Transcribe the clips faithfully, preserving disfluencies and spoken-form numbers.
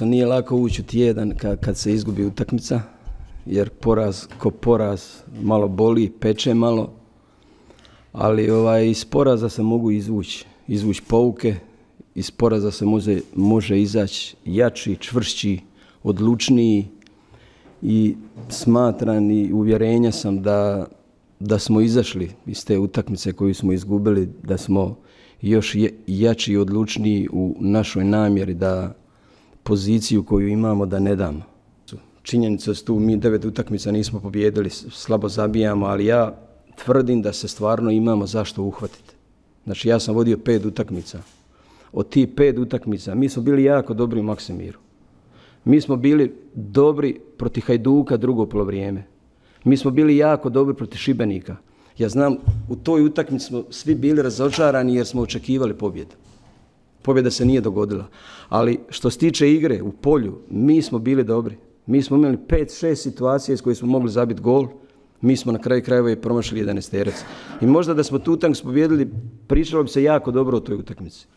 Nije lako ući u tjedan kad se izgubi utakmica, jer poraz ko poraz malo boli, peče malo, ali ovaj, iz poraza se mogu izvući, izvući pouke, iz poraza se može, može izaći jači, čvršći, odlučniji i smatram i uvjerenja sam da, da smo izašli iz te utakmice koju smo izgubili, da smo još jači i odlučniji u našoj namjeri da poziciju koju imamo da ne damo. Činjenica su tu, mi devet utakmica nismo pobijedili, slabo zabijamo, ali ja tvrdim da se stvarno imamo zašto uhvatiti. Znači ja sam vodio pet utakmica. Od tih pet utakmica mi smo bili jako dobri u Maksimiru. Mi smo bili dobri protiv Hajduka drugo polovrijeme. Mi smo bili jako dobri protiv Šibenika. Ja znam, u toj utakmici smo svi bili razočarani jer smo očekivali pobjedu. Pobjeda se nije dogodila. Ali što se tiče igre u polju, mi smo bili dobri. Mi smo imali pet šest situacija iz koje smo mogli zabiti gol. Mi smo na kraju krajeva i promašili jedanaesterac. I možda da smo tu utakmicu pobijedili, pričalo bi se jako dobro o toj utakmici.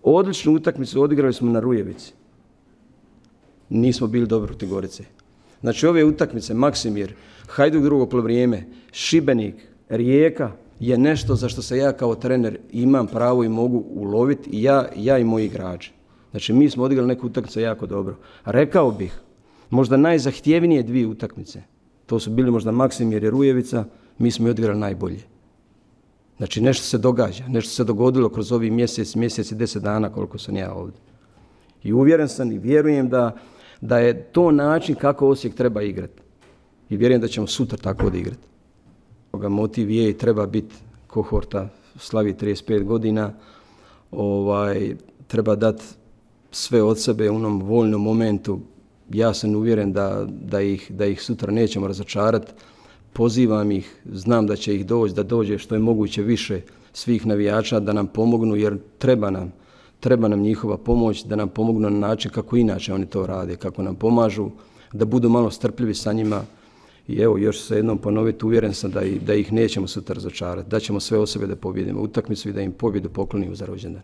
Odličnu utakmicu odigrali smo na Rujevici. Nismo bili dobri protiv Gorice. Znači ove utakmice, Maksimir, Hajduk drugo polovrijeme, Šibenik, Rijeka, je nešto za što se ja kao trener imam pravo i mogu uloviti i ja, ja i moji igrači. Znači mi smo odigrali neku utakmicu jako dobro. Rekao bih, možda najzahtjevnije dvije utakmice, to su bili možda Maksimir i Rujevica, mi smo i odigrali najbolje. Znači nešto se događa, nešto se dogodilo kroz ovih mjesec, mjesec i deset dana koliko sam ja ovdje. I uvjeren sam i vjerujem da, da je to način kako Osijek treba igrati. I vjerujem da ćemo sutra tako odigrati. Motiv je i treba biti kohorta, slavi trideset pet godina, ovaj, treba dati sve od sebe u onom voljnom momentu. Ja sam uvjeren da, da, ih, da ih sutra nećemo razočarati. Pozivam ih, znam da će ih doći, da dođe što je moguće više svih navijača da nam pomognu, jer treba nam, treba nam njihova pomoć, da nam pomognu na način kako inače oni to rade, kako nam pomažu, da budu malo strpljivi sa njima. I evo, još se jednom ponoviti, uvjeren sam da, da ih nećemo sutra razočarati, da ćemo sve od sebe da pobjedimo utakmicu i da im pobjedu poklonimo za rođendan.